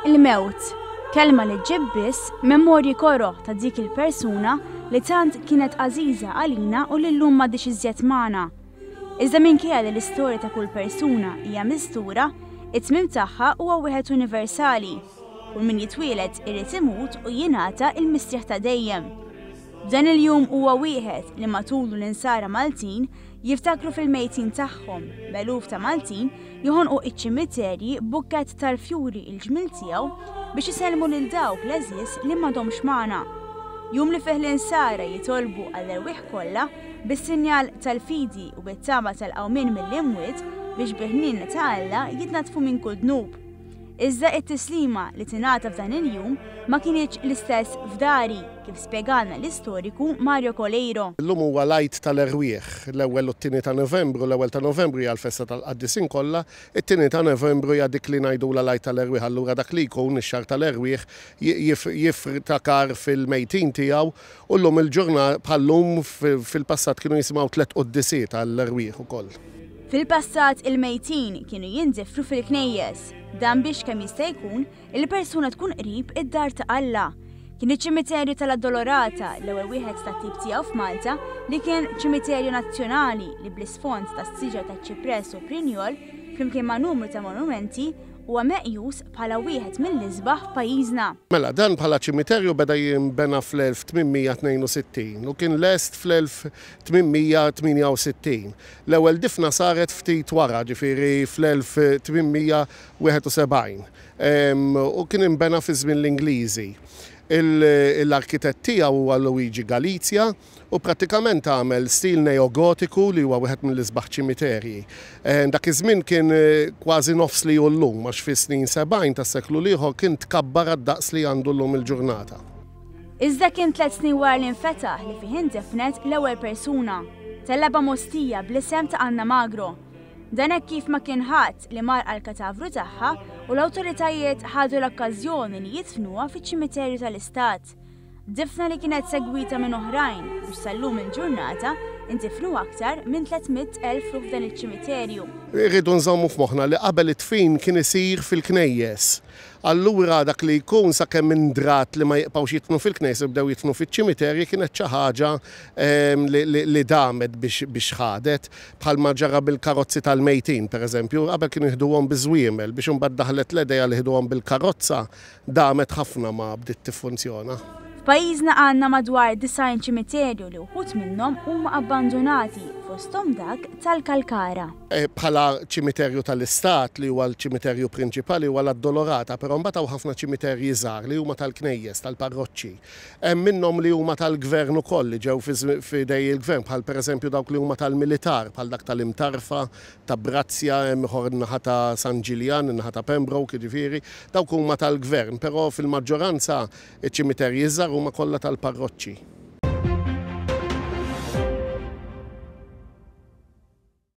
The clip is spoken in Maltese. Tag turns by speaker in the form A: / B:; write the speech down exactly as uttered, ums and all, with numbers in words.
A: Il-mewt, kelma li ġġib biss memorji koroh ta' dik il-persuna li tant kienet għażiża għalina u li llum m'għadhiex iżjed magħna. Iżda minkejja li l-istorja ta' kull persuna hija mistura, it-tmiem tagħha huwa wieħed universali. Kull min jitwieled irid imut u jingħata il-mistrieħ ta' dejjem. Dan il-jum huwa wieħed li matulu l-insara Maltin jiftakru fil-mejtin tagħhom, b'eluf ta' Maltin joħonqu iċ-ċimiterji b'bukkett tal-fjuri il-ġmil tiegħu biex isellmu lil dawk l-għeżież li m'għadhomx magħna. Jum li fih l-insara jitolbu għall-erwieħ kollha bis-sinjal tal-fidi u bit-tama tal-qawmien mill-imwiet biex bil-ħniena ta' Alla jitnatfu minn kull dnub. Iżda it-tislima li tingħata f'dan il-jum ma kinitx l-istess f'dari, kif spjegalna l-istoriku Mario Coleiro.
B: Illum huwa l-Għid tal-Erwieħ, l-ewwel u t-tieni ta' Novembru. L-ewwel ta' Novembru hija l-festa tal-Qaddisin kollha, it-tieni ta' Novembru hija dik li ngħidulha l-Għid tal-Erwieħ. Allura dak li jkun ix-xahar tal-erwieħ jiftakar fil-mejtin tiegħu u llum il-ġurnata bħal-lum fil-passat kienu jisimgħu tliet quddisiet għall-erwieħ ukoll.
A: Fil-passat il-mejtin kienu jindifnu fil-knejjes, dan biex kemm jista' jkun il-persuna tkun qrib id-dar ta' Alla. Kien iċ-ċimiterju tal-Addolorata, l-ewwel wieħed tat-tip tiegħu f'Malta, li kien ċimiterju nazzjonali li bl-isfond ta' siġar ta' ċipress u prinjol, flimkien ma' numru ta' monumenti, huwa meqjus bħala wieħed mill-isbaħ f'pajjiżna.
B: Mela, dan bħala ċimiterju beda jinbena fl-elf tmien mija tnejn u sittin u kien lest fl-elf tmien mija tmienja u sittin. L-ewwel difna saret ftit wara, ġifieri fl-elf tmien mija wieħed u sebgħin. Em, u kien inbena fi żmien l-Ingliżi. L-arkitett tiegħu huwa Luigi Galizia u prattikament għamel stil neogotiku li huwa wieħed mill-isbaħ ċimiterji. Eh, dak iż-żmien kien, eh, kważi nofs li hu llum, għax fis-snin sebgħin tas-seklu l-ieħor kien tkabbar għad-daqs li għandu llum il-ġurnata.
A: Iżda kien tliet snin wara li nfetaħ li fih indifnet l-ewwel persuna, tellaba mostija bl-isem ta' Anna Magro. Dan hekk kif ma kien ħadd li mar għall-katavru tagħha u l-awtoritajiet ħadu l-okkażjoni li jidfnuha fiċ-ċimiterju tal-Istat. Difna li kienet segwita minn oħrajn biex sal-lum il-ġurnata indifnu aktar minn tliet mitt elf ruħ f'dan iċ-ċimiterju.
B: Irridu nżommu f'moħħna li qabel it-tfin kien isir fil-knejjes. Allura dak li jkun sakemm indrat li ma jibqgħux jitfnu fil-knejjes u bdew jitfnu fiċ-ċimiterji kienet xi ħaġa, ehm, li, li, li damet biex, biex ħadet, bħalma ġara bil-karozzi tal-mejtin, pereżempju, qabel kienu jieħduhom biż-żwiemel biex imbagħad daħlet l-idea li jieħduhom bil-karozza, damet ħafna ma bdiet tiffunzjona.
A: F'pajjiżna għandna madwar disgħin ċimiterju li wħud minnhom huma abbandonati, fosthom dak tal-Kalkara.
B: Eh, bħala ċimiterju tal-Istat li huwa l-ċimiterju prinċipali huwa l-Addolorata, però mbagħad hawn ħafna ċimiterji żgħar li huma tal-knejjes, tal-parroċċi. Hemm minnhom li huma tal-gvern ukoll li ġew fi żmi-, f'idej il-gvern, bħal pereżempju dawk li huma tal-militar, bħal dak tal-Imtarfa, ta' Brazzja, hemm ieħor in-naħa ta' San Ġiljan, in-naħa ta' Pembroke, jiġifieri, dawk huma tal-gvern, però fil-maġġoranza iċ-ċimiterji żgħar huma kollha tal-parroċċi.